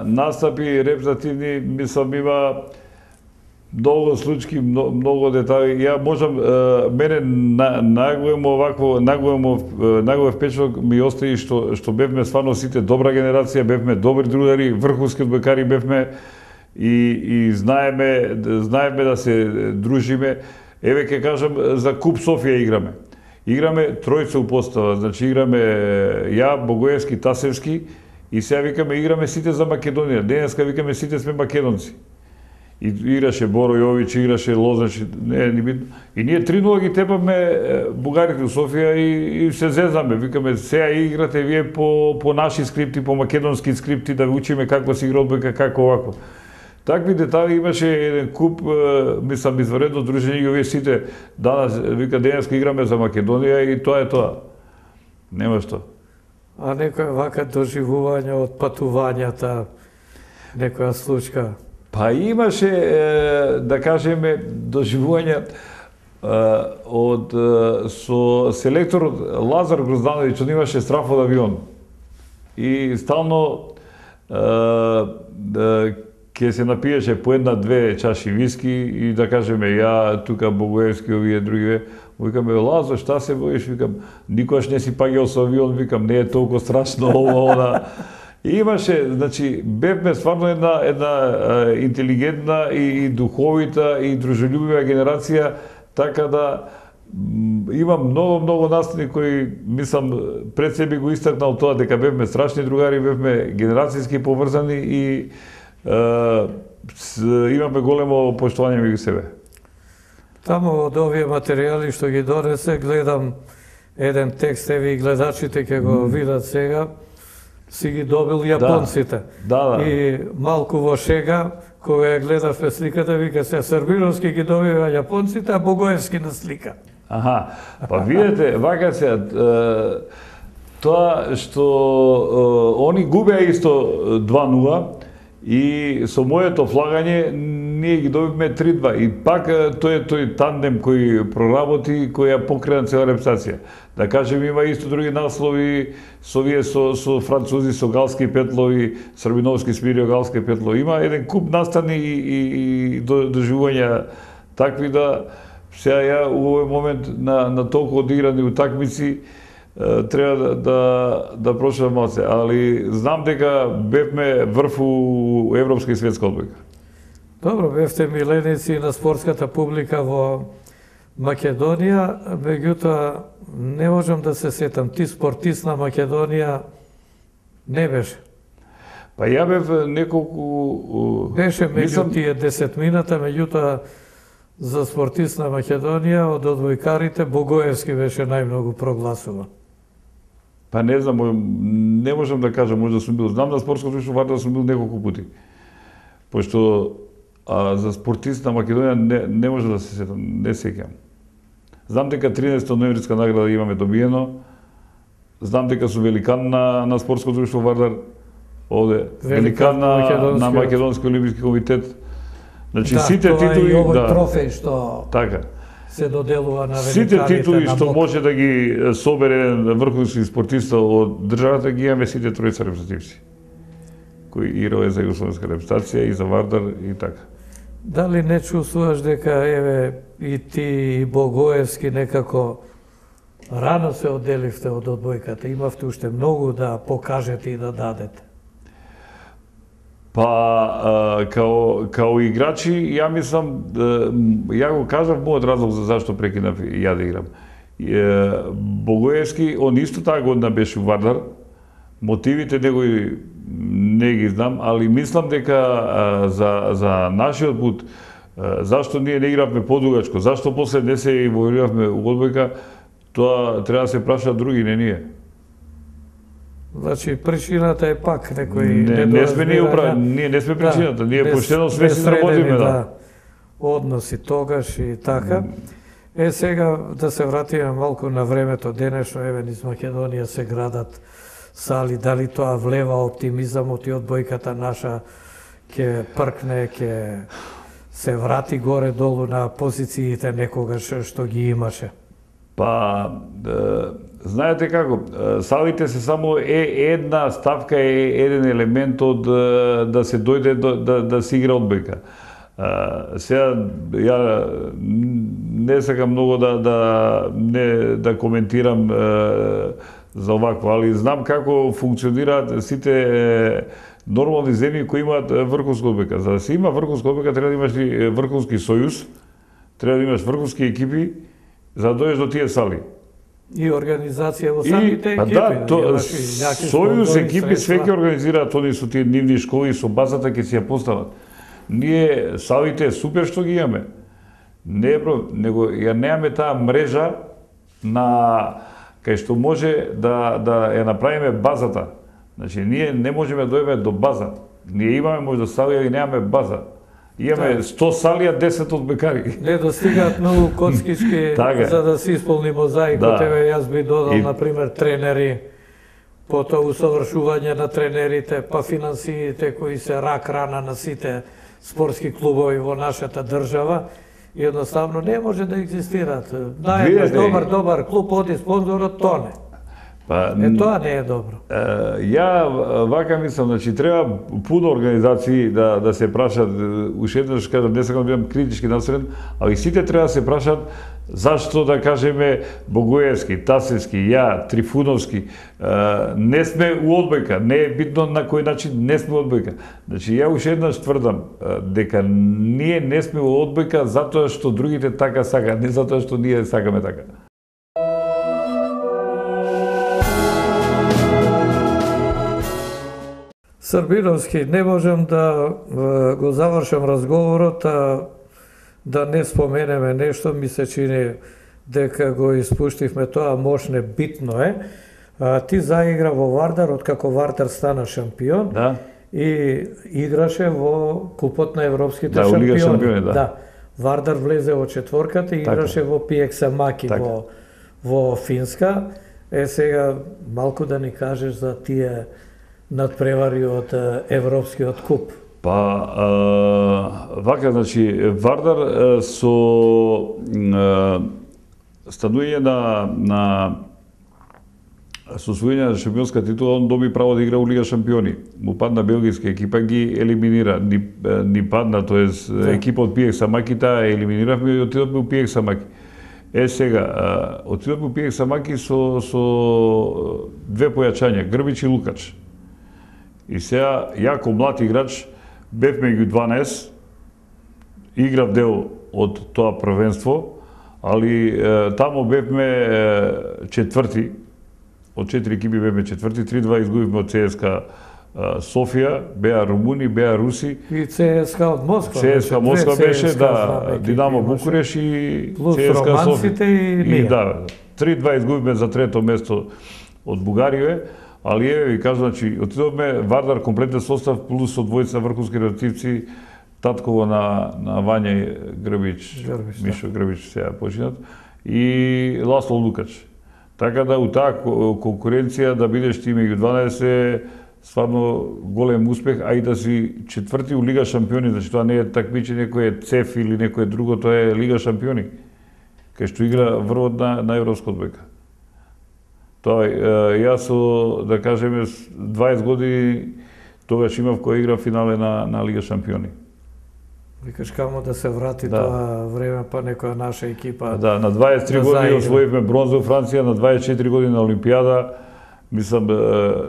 настапи репрезентативни, мислам, има многу случаи, многу детали. Ја можам, мене најголем впечаток ми остави што бевме стварно сите добра генерација, бевме добри другари, врховски одбојкари бевме и знаеме да се дружиме. Еве ќе кажам за Куп Софија играме. Играме тројца у постава, значи играме ја, Богоевски, Тасевски и сега викаме играме сите за Македонија. Денеска викаме сите сме македонци. И играше Боро Јович, играше Лозач, не битно. И ние 3-0 ги тепаме бугарите у Софија и се зезаме. Викаме, сега играте вие по наши скрипти, по македонски скрипти, да ви учиме како се игра одбојка, како овако. Такви детали имаше еден куп, мислам, изваредно дружење и овие сите данас, вика, денеска играме за Македонија и тоа е тоа. Нема што. А некоја вака доживување од патувањата, некоја случка? Па имаше, да кажеме, доживување со селекторот Лазар Гроздановиќ, он имаше страф од авион. И стално ќе се напиеше по една-две чаши виски и да кажеме ја, тука Богоевски, овие други, викаме, Лазо, шта се боиш? Викам, никогаш не си паѓал со авион, викам, не е толку страшно ова, она. И имаше, значи, бевме стварно една интелигентна и духовита и дружелюбива генерација, така да има многу настани кои, мислам, пред себе го истакнал тоа дека бевме страшни другари, бевме генерацијски поврзани и имаме големо поштовање меѓу себе. Таму од овие материјали што ги донесе, гледам еден текст, еви гледачите ќе го видат сега, си ги добил јапонците. Да. И малку во шега, кога ја гледавме сликата, вика се Србиновски ги добива јапонците, а Богоевски на слика. Аха, па видете, вака се, тоа што они губеа исто 2-0 и со моето флагање ние ги добивме 3-2 и пак тој тандем кој проработи, кој ја покрена цела репутација. Да кажем, има исто други наслови со французи, со Галски Петлови, Србиновски Смирио, Галски Петлови. Има еден куп настани и доживувања такви да сега ја у овој момент на толку одиграни утакмици треба да проширам малце, али знам дека бевме врв у европска и светска одбојка. Добро, бевте миленици на спортската публика во Македонија, меѓутоа не можам да се сетам, ти спортист на Македонија не беше. Па ја бев неколку... Беше меѓу тие 10 мината, меѓутоа за спортист на Македонија од одбојкарите Богоевски беше најмногу прогласуван. Па не знам, не можам да кажам, може да сум бил. Знам на спортско друштво Вардар сум бил неколку пати. Пошто за спортист на Македонија не може да се сетам, не сеќам. Знам дека 13 ноемвриска награда имаме добиено. Знам дека сум великан на спортско друштво Вардар, овде великан на Македонски олимписки комитет. Значи сите титули, и овој трофеј што така се доделува на великаните. Сите титули што може да ги собере еден врховски спортиста од државата ги имаме сите тројца репрезентативци кои играле за југословенска репрезентација и за Вардар и така. Дали не чувствуваш дека еве и ти и Богоевски некако рано се одделивте од одбојката, имавте уште многу да покажете и да дадете? Па, као играчи, ја мислам, ја го кажав мојот разлог за зашто прекинав ја да играм. Богоевски, он исто таа година беше у Вардар, мотивите негови не ги знам, али мислам дека за нашиот пут, зашто ние не игравме подугачко, зашто после не се инволвиравме у одбојка, тоа треба да се прашаат други, не ние. Значи, причината е пак некој не сме ние не сме причината, ние поштено свеси да работиме, да. односи тогаш и така. Сега да се вратиме малку на времето денешно, еве низ Македонија се градат сали, дали тоа влева оптимизамот и одбојката наша ќе пркне, ќе се врати горе-долу на позициите некогаш што ги имаше? Па, знаете како, салите се само една ставка, еден елемент од да се дојде да се игра одбојка. Сега, ја не сакам многу да коментирам за овакво, али знам како функционираат сите нормални земји кои имаат врховска одбојка. За да се има врховска одбојка треба да имаш и врховски сојуз, треба да имаш врховски екипи, за да дојдеш до тие сали. И организација во самите екипи. Да, сојуз екипи све ќе организираат они со тие нивни школи, со базата ќе си ја постават. Ние салите супер што ги имаме. Не е проблем, него ја немаме таа мрежа на кај што може да ја направиме базата. Значи, ние не можеме да дојдеме до база. Ние имаме можда сали, али немаме база. Имаме 100 сали, а 10 одбојкари. Не достигаат многу коцкички за да се исполни мозаикот. Еве, јас би додал, например, тренери, потоа усовршување на тренерите, па финансиите кои се рак-рана на сите спортски клубови во нашата држава. Едноставно не може да екзистираат. Наједнаш добар клуб, оди спонзорот, тоне. Тоа не е добро. Ја вака мислам, значи треба пуно организации да се прашат, уште еднаш кажам, не сакам да бидам критички настроен, али сите треба да се прашат зашто, да кажеме, Богоевски, Тасевски, ја, Трифуновски, не сме у одбојка, не е битно на кој начин не сме у одбојка. Значи ја уште еднаш тврдам дека ние не сме у одбојка затоа што другите така сакаат, не затоа што ние сакаме така. Србиновски, не можам да го завршам разговорот, да не споменеме нешто, ми се чини дека го испуштивме тоа, мошне битно е. Ти заигра во Вардар, откако Вардар стана шампион, и играше во Купот на европските шампиони. Да. Вардар влезе во четворката и играше во Пиекса Маки во Финска. Сега малку да ни кажеш за тие надпревари од Европскиот куп. Вака, значи, Вардар со станување на со освојување на шампионска титула, он доби право да игра у Лига шампиони. Му падна белгиска екипа, ги елиминира. Ни падна, тоест екипа од Пиекса Маки, таа елиминиравме и отидовме у Пиекса Маки. Сега, отидовме у Пиекса Маки со две појачања, Грбич и Лукач. И сега, ја ко млад играч, бевме ги 12, играв дел од тоа првенство, али тамо бевме четврти, од 4 екипи бевме четврти, 3-2 изгубивме од ЦСКА Софија, беа румуни, беа руси. И ЦСКА од Москва. ЦСКА Москва беше, да, Динамо Букуреш и ЦСКА Софија. И ние. Да, 3-2 изгубивме за трето место од Бугарија. Али еве ви кажам, значи, отидовме Вардар комплетен состав плюс со двојца врховски ротивци, татково на Вања Грбич, Мишо Грбич сега починат, и Ласло Лукач. Така да у таа конкуренција да бидеш ти меѓу 12 е стварно голем успех, а и да си четврти у Лига шампиони, значи тоа не е такмичење кој е ЦЕФ или некој друго, тоа е Лига шампиони, кај што игра врвот на европска одбојка. Тоа, јас со, да кажеме, 20 години тогаш имав кој игра финале на Лига шампиони. Викаш камо да се врати тоа време, па некоја наша екипа. Да, на 23 години освоивме бронза во Франција, на 24 години на Олимпијада, мислам,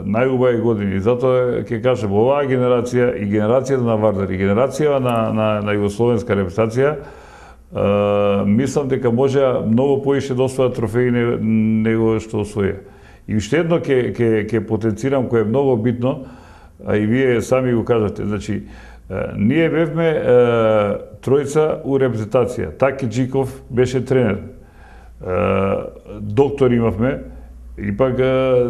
најубави години. Затоа ќе кажем, оваа генерација и генерацијата на Вардар и генерација на југословенска репрезентација, мислам дека може многу поише да освојат трофеи него што освоја. И уште едно ќе потенцирам кој е многу битно, а и вие сами го кажате, значи, ние бевме тројца у репрезентација. Таки Джиков беше тренер. Доктор имавме, и пак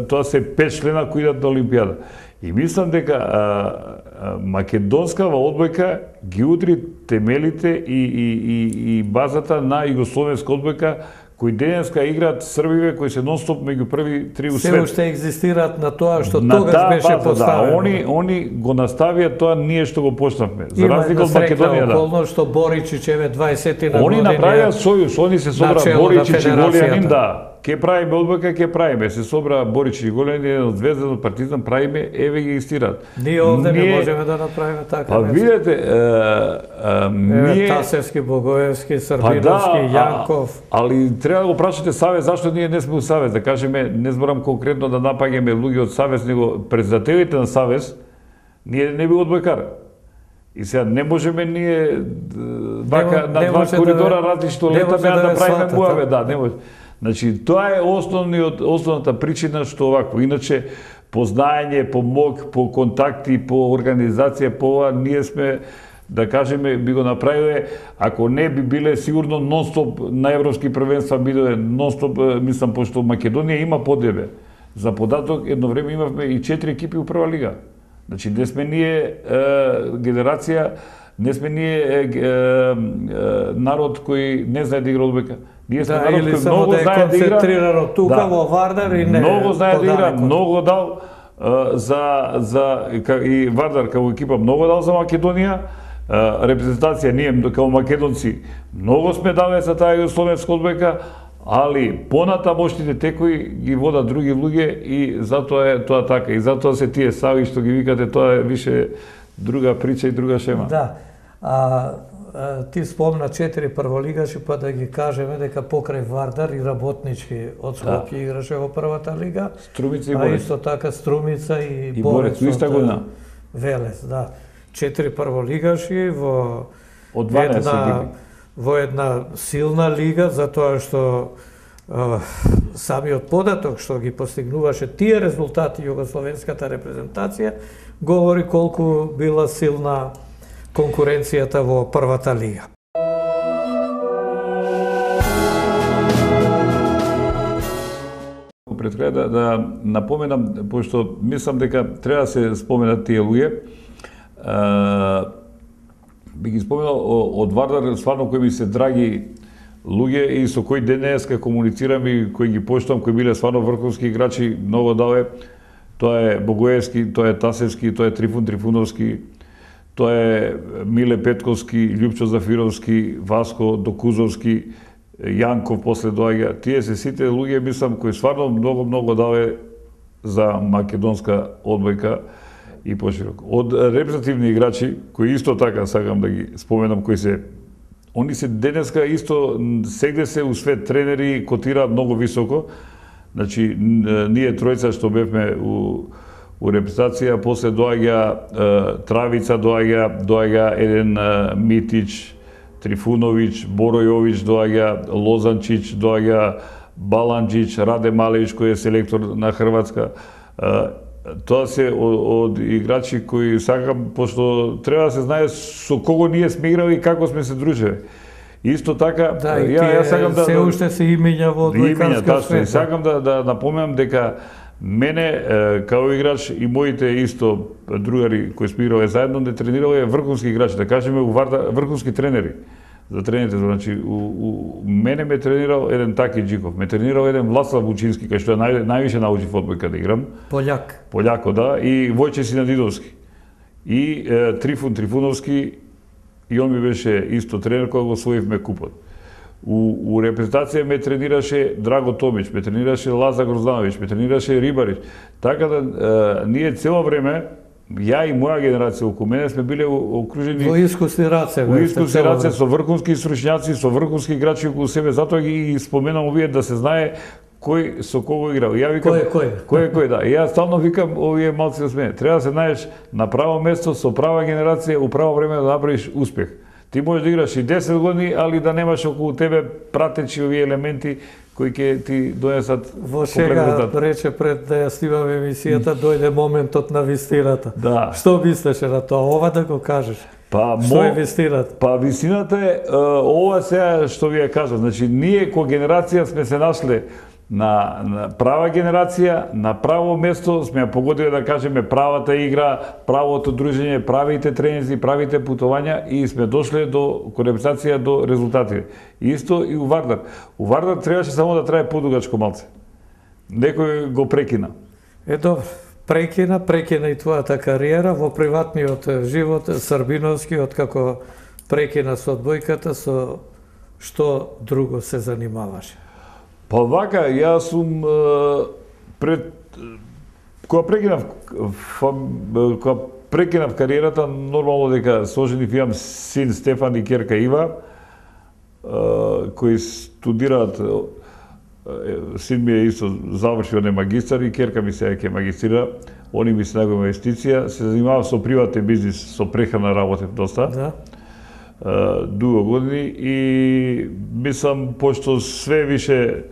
тоа се 5 члена кои идат на Олимпијада. И мислам дека македонскава одбојка ги удри темелите и базата на југословенска одбојка, кои денеска играат Србиве, кои се нон-стоп меѓу први три у свет. Се уште екзистираат на тоа што тогаш беше поставено. Да, они го наставија тоа ние што го почнавме. За разлика од Македонија, да. Околно што Боричич еве 20-тина години. Они направија сојуз, они се собра Боричич и Голјанин, да. Ке правиме одбојка, ке правиме. Се собра Боричич и Голјанин од Звезда, од Партизан, правиме, еве ги истираат. Ние овде не можеме да направиме така. Па видете, ние Тасевски, Богоевски, Србиновски, Јанков. Али треба да го прашате Савез зашто ние не сме у Савез, да кажеме, не зборам конкретно да напаѓаме луѓе од Савез, него председателите на Савез, ние не би одбојкар. И сега не можеме ние вака на два коридора различно летаме да правиме муаве, да, не може. Значи, тоа е основната причина што овако. Иначе, по знаење, по мог, по контакти, по организација, по ова, ние сме, да кажеме, би го направиле, ако не би биле сигурно нон-стоп на европски првенства, бидоe нон-стоп, мислам, пошто Македонија има подребе. За податок, едно време имавме и 4 екипи у прва лига. Значи, не сме ние генерација, не сме ние народ кој не знае да игра одбојка. Ние сме народ кој многу знае да игра. Концентрирано тука во Вардар и не. Многу знае да игра, многу дал и Вардар како екипа многу дал за Македонија. Репрезентација ние како македонци многу сме дале за таа југословенска одбојка, али понатамошните текои ги водат други луѓе и затоа е тоа така. И затоа се тие сави што ги викате, тоа е више друга прича и друга шема. Да. Ти спомна 4 прволигаши, па да ги кажеме дека покрај Вардар и Работнички од Скопје играше во првата лига. Струмица и Борец. А исто така Струмица и Борец иста година. Велес, да. 4 прволигаши во од 12 екипи. Во една силна лига, затоа што самиот податок што ги постигнуваше тие резултати југословенската репрезентација говори колку била силна конкуренцијата во првата лига. Пред крај да напоменам, пошто мислам дека треба да се споменат тие луѓе, би ги споменал од Вардар, стварно кои ми се драги луѓе и со кои денеска комуницирам и кои ги поштам, кои биле стварно врховски играчи, многу дале. Тоа е Богоевски, тоа е Тасевски, тоа е Трифун Трифуновски, тоа е Миле Петковски, Љупчо Зафировски, Васко Докузовски, Јанков после доаѓа. Тие се сите луѓе, мислам, кои стварно многу дале за македонска одбојка и пошироко. Од репрезентативни играчи, кои исто така сакам да ги споменам, кои се они се денеска исто сегде се у свет тренери котираат многу високо. Значи ние тројца што бевме у репрезентација, после доаѓа Травица, доаѓа еден Митич, Трифуновиќ, Боројовиќ, доаѓа Лозанчиќ, доаѓа Баланџиќ, Раде Малевиќ кој е селектор на Хрватска. Тоа се од играчи кои сакам, пошто треба да се знае со кого ние сме играли и како сме се дружеле. Исто така, да, ја сакам да се уште се имења во одбојкарскиот свет. Сакам да напоменам дека мене као играч и моите исто другари кои сме играле заедно не тренирале врховски играчи, да кажеме врховски тренери. За тренерите, значи мене ме тренирал еден Таки Джиков, ме тренирал еден Власлав Вучински, кај што највише научи одбојка да играм. Пољако, да, и Војче Синадидовски. И Трифун Трифуновски, и он ми беше исто тренер кога го освоивме купот. У репрезентација ме тренираше Драго Томич, ме тренираше Лазар Гроздановиќ, ме тренираше Рибарич. Така да ние цело време, ја и моја генерација околу мене сме биле окружени во искусни раце. Во искусни раце со врховски стручњаци, со врховски играчи околу себе, затоа ги споменам овие да се знае кој со кого играл. Ја викам кој, да. И јас стално викам овие малци од мене. Треба да се најдеш на право место со права генерација у право време да направиш успех. Ти можеш да играш и 10 години, али да немаш околу тебе пратечи овие елементи кои ќе ти донесат во шега рече пред да ја снимаме емисијата, дојде моментот на вистината. Да. Што мислеше на тоа? Ова да го кажеш. Што е вистината? Па вистината е ова сега што ви ја кажа. Значи ние кој генерација сме се нашле на права генерација, на право место, сме ја погодили да кажеме правата игра, правото дружење, правите тренинзи, правите путувања и сме дошле до концепција до резултати. Исто и у Вардар. У Вардар требаше само да трае подугачко малце. Некој го прекина. Добро, прекина и твојата кариера во приватниот живот, Србиновски, како прекина со одбојката, со што друго се занимаваше? Па вака, јас сум кога прекинав кариерата, нормално дека соженив имам син Стефан и ќерка Ива, кои студираат, син ми е исто завршил не магистар и ќерка ми се ќе магистрира, они ми се најголема инвестиција, се занимавам со приватен бизнис, со прехрана работев доста. Да. Дуго години и мислам, пошто све више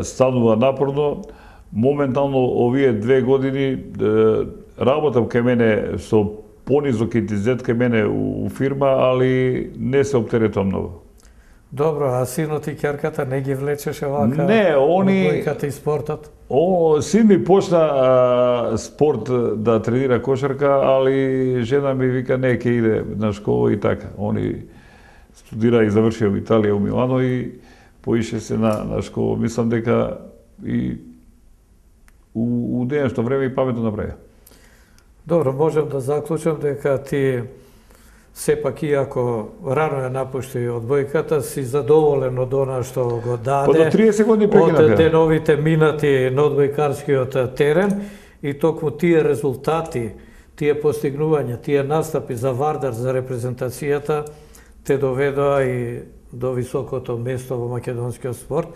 станува напорно, моментално овие 2 години работам кај мене со понизок интензитет кај мене у фирма, али не се оптеретувам многу. Добро, а синот и ќерката не ги влечеше вака? Не, они... Одбојката и спортот? Син ми почна спорт да тренира кошарка, али жена ми вика не, ќе иде на школа и така. Они студира и завршија во Италија, у Милано и поише се на школа. Мислам дека и у денешно време и паметно направи. Добро, можем да заклучам дека ти сепак, иако рано ја напушти одбојката, си задоволен од она што го даде, До 30 години прекинав. од деновите минати на одбојкарскиот терен и токму тие резултати, тие постигнувања, тие настапи за Вардар, за репрезентацијата, те доведоа и до високото место во македонскиот спорт,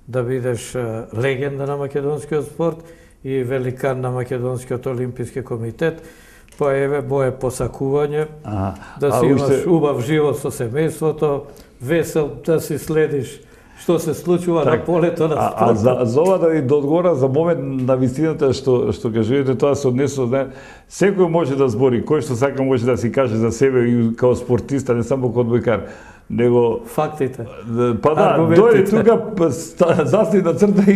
да бидеш легенда на македонскиот спорт и великан на македонскиот олимписки комитет. Па еве моје посакување, да си имаш убав живот со семејството, весел, да си следиш што се случува на полето на спортот. А за ова да ви доодговора за момент на вистината што кажувате, тоа се однесува, секој може да збори, кој што сака може да си каже за себе и као спортиста, не само као одбојкар, него фактите. Па да, дојди тука, застани на црта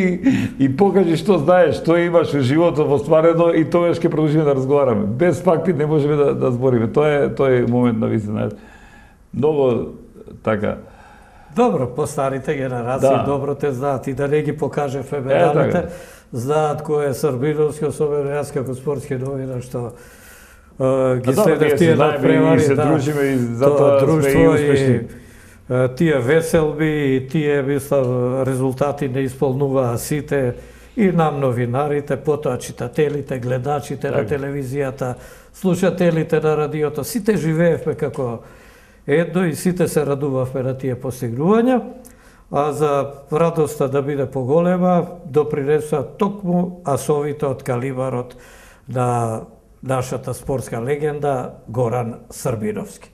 и покажи што знаеш, што имаш во животот остварено и тогаш ќе продолжиме да разговараме. Без факти не можеме да збориме. Тоа е момент на вистина. Многу така. Добро, постарите генерации добро те знаат и да не ги покажевме медалите, знаат кој е Србиновски, особено јас како спортски новинар што ги следев тие надпревари, се дружиме и затоа сме и успешни. Тие веселби и тие, мислам, резултати не исполнуваа сите и нам новинарите, потоа читателите, гледачите на телевизијата, слушателите на радиото, сите живеевме како едно и сите се радувавме на тие постигнувања, а за радоста да биде поголема, допринесува токму асовите од калибарот на нашата спортска легенда Горан Србиновски.